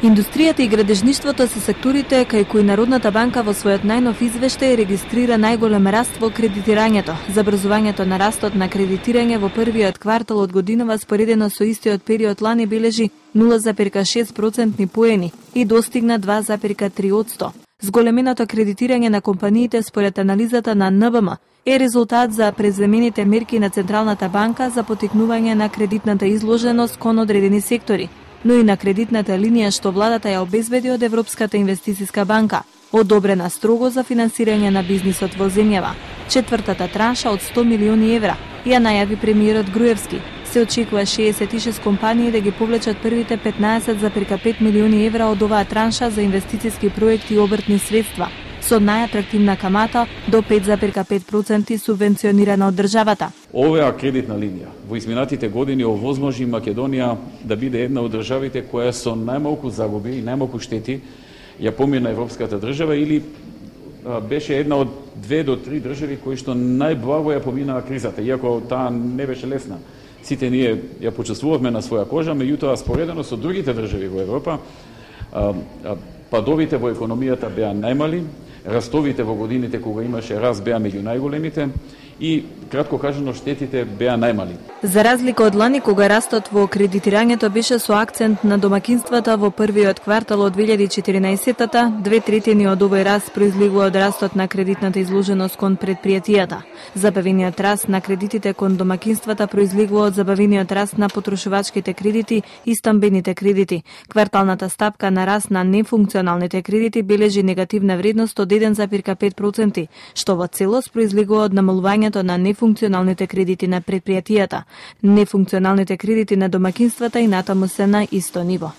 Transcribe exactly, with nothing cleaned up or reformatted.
Индустријата и градежништвото се секторите кај кои Народната банка во својот најнов извештај регистрира најголем раст во кредитирањето. Забрзувањето на растот на кредитирање во првиот квартал од годинава споредено со истиот период лани бележи нула зарез шест процентни поени и достигна два зарез три одсто. Зголеменото кредитирање на компаниите според анализата на Н Б М е резултат за преземените мерки на Централната банка за потикнување на кредитната изложеност кон одредени сектори, но и на кредитната линија што владата ја обезбеди од Европската инвестициска банка, одобрена строго за финансирање на бизнисот во земјава. Четвртата транша од сто милиони евра ја најави премиерот Груевски. Се очекува шеесет и шест компании да ги повлечат првите петнаесет зарез пет милиони евра од оваа транша за инвестициски проекти и обртни средства, со најатрактивна камата до пет зарез пет проценти субвенционирана од државата. Оваа кредитна линија во изминатите години овозможи Македонија да биде една од државите која со најмалку загуби и најмалку штети ја помина европската држава или а, беше една од две до три држави кои што најблаго ја поминаа кризата, иако таа не беше лесна. Сите ние ја почувствувавме на своја кожа, меѓутоа споредено со другите држави во Европа, а, а, падовите во економијата беа најмали, растовите во годините кога имаше раст беа меѓу најголемите и, кратко кажано, штетите беа најмали. За разлика од лани, кога растот во кредитирањето беше со акцент на домакинствата во првиот квартал од две илјади и четиринаесеттата, две третини од овој раст произлегува од растот на кредитната изложеност кон предпријатијата. Забавениот раст на кредитите кон домакинствата произлегува од забавениот раст на потрошувачките кредити и стамбените кредити. Кварталната стапка на раст на нефункционалните кредити бележи негативна вредност од еден зарез пет проценти, што во целост произлегува од намалувањето на нефункционалните кредити на предпријатијата. Нефункционалните кредити на домакинствата и натаму се на исто ниво.